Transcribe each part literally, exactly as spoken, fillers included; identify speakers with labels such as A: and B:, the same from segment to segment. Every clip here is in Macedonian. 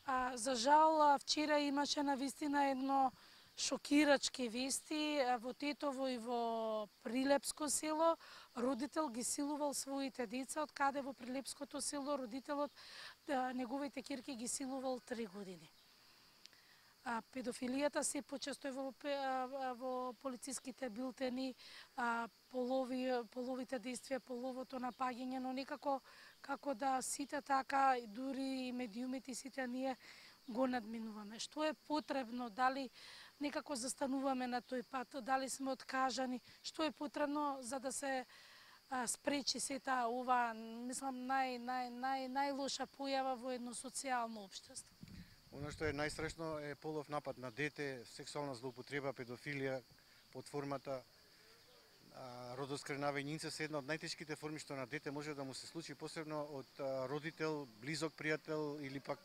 A: А, за жал, вчера имаше навистина едно шокирачки вести. Во Тетово и во Прилепско село родител ги силувал своите деца, од каде во Прилепското село родителот неговите ќерки ги силувал три години. А, педофилијата се почесто во, во полициските билтени, а, полови, половите действија, половото напаѓање, но некако како да сите така, дури и медиумите, сите ние го надминуваме. Што е потребно, дали некако застануваме на тој пат, дали сме откажани, што е потребно за да се а, спречи сета ова, мислам, нај, нај, нај, најлоша појава во едно социјално општество?
B: Оно што е најстрашно е полов напад на дете, сексуална злоупотреба, педофилија под формата родоскренавање, инцест, една од најтешките форми што на дете може да му се случи, посебно од а, родител, близок пријател или пак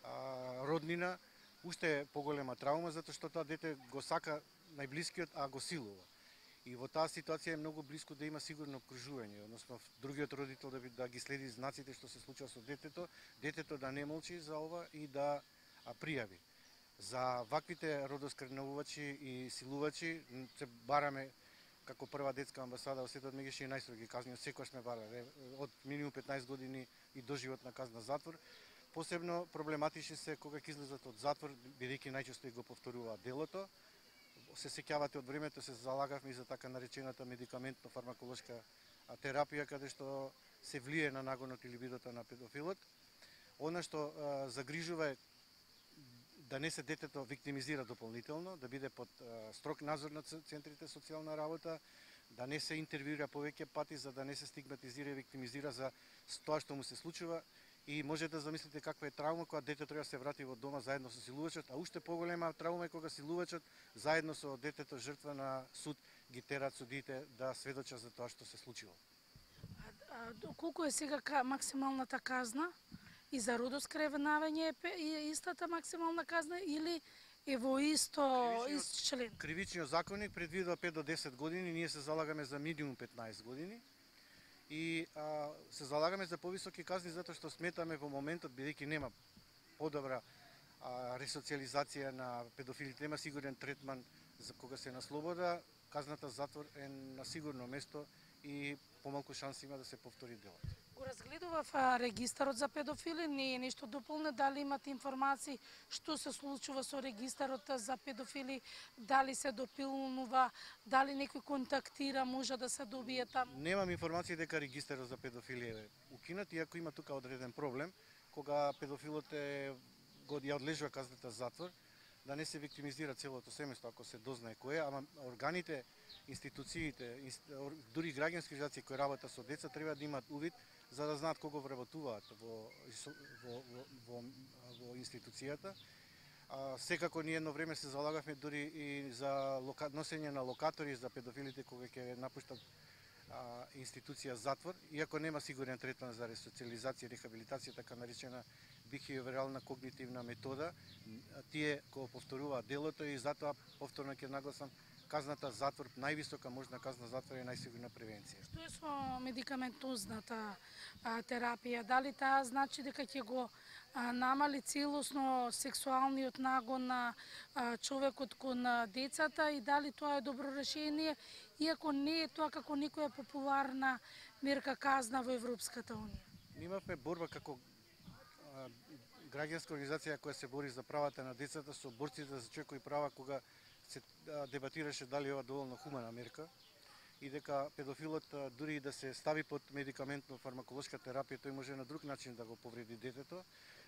B: а, роднина, уште е поголема траума, затоа што тоа дете го сака најблискиот, а го силува. И во таа ситуација е многу блиско да има сигурно окружување, односно другиот родител да, да ги следи знаците што се случува со детето, детето да не молчи за ова и да а, пријави. За ваквите родоскренувачи и силувачи се бараме како прва детска амбасада во светот меѓу и најстроги казни, секогаш сме барале од минимум петнаесет години и доживотна казна затвор. Посебно проблематични се кога ќе излезат од затвор, бидејќи најчесто и го повторуваат делото. Се сеќавате од времето се залагавме и за така наречената медикаментно-фармаколошка терапија, каде што се влие на нагонот или бидото на педофилот. Она што а, загрижува е да не се детето виктимизира дополнително, да биде под а, строг надзор на центрите социјална работа, да не се интервјуира повеќе пати, за да не се стигматизира и виктимизира за тоа што му се случува. И може да замислите каква е траума кога дете треба да се врати во дома заедно со силувачот, а уште поголема траума е кога силувачот заедно со детето жртва на суд ги терат судиите да сведочат за тоа што се случило.
A: А, а колку е сега максималната казна? И за родоскревнавање е истата максимална казна или е во исто ист член?
B: Кривичниот законник предвидува пет до десет години, ние се залагаме за минимум петнаесет години. И а, се залагаме за повисоки казни затоа што сметаме во моментот, бидејќи нема подобра а, ресоциализација на педофилите, нема сигурен третман за кога се на слобода, казната затвор е на сигурно место и помалку шанси има да се повтори делот.
A: Го разгледував регистарот за педофили, не е нешто дополне, дали имате информации што се случува со регистарот за педофили, дали се допилнува, дали некој контактира, може да се добие таму?
B: Немам информации дека регистарот за педофили е укинат, иако има тука одреден проблем, кога педофилот е, го ја одлежува казната затвор, да не се виктимизира целото семејство ако се дознае кој е, ама органите, институциите, дури граѓански организации кои работат со деца треба да имаат увид за да знаат кого вработуваат во, во, во, во, во институцијата. А, секако ние едно време се залагавме дури и за лока, носење на локатори за педофилите кога ќе напуштат а, институција затвор, иако нема сигурен третман за ресоциализација и рехабилитација, така наречена бихевиорална когнитивна метода, тие кога повторуваат делото и затоа повторно ќе нагласам казната затвор, највисока можна казна затвор е најсигурна превенција.
A: Што е со медикаментозната а, терапија? Дали таа значи дека ќе го а, намали целосно сексуалниот нагон на а, човекот кон децата и дали тоа е добро решение, иако не е тоа како некоја популарна мерка казна во Европската унија?
B: Имавме борба како а, граѓанска организација која се бори за правата на децата со борците за човекови права кога се дебатираше дали ова доволно хумана мерка и дека педофилот дури и да се стави под медикаментно-фармаколошка терапија, тој може на друг начин да го повреди детето.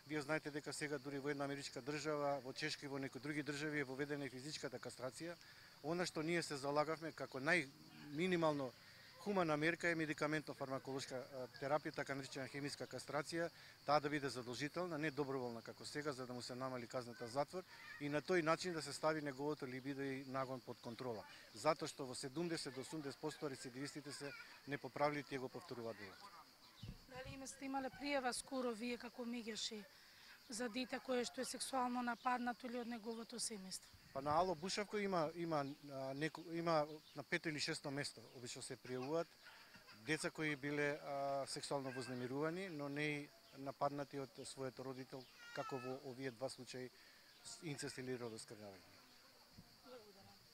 B: Вие знаете дека сега дури во една америчка држава, во Чешка и во некои други држави е воведена и физичката кастрација. Она што ние се залагавме како најминимално хумана мерка е медикаментно-фармаколошка терапија, така наречена хемиска кастрација, таа да биде задолжителна, не доброволна како сега, за да му се намали казната затвор и на тој начин да се стави неговото либидо и нагон под контрола. Затоа што во седумдесет до осумдесет проценти рецидивистите се непоправливи и го повторуваат делото.
A: Дали име сте имале пријава скоро вие како меѓаши за дете кое што е сексуално нападнато или од неговото семејство?
B: Па на Ало Бушавко има има неко, има на пето или шесто место обично се пријавуваат деца кои биле а, сексуално вознемирувани, но не нападнати од својот родител, како во овие два случаи инцест или родоскрнавање.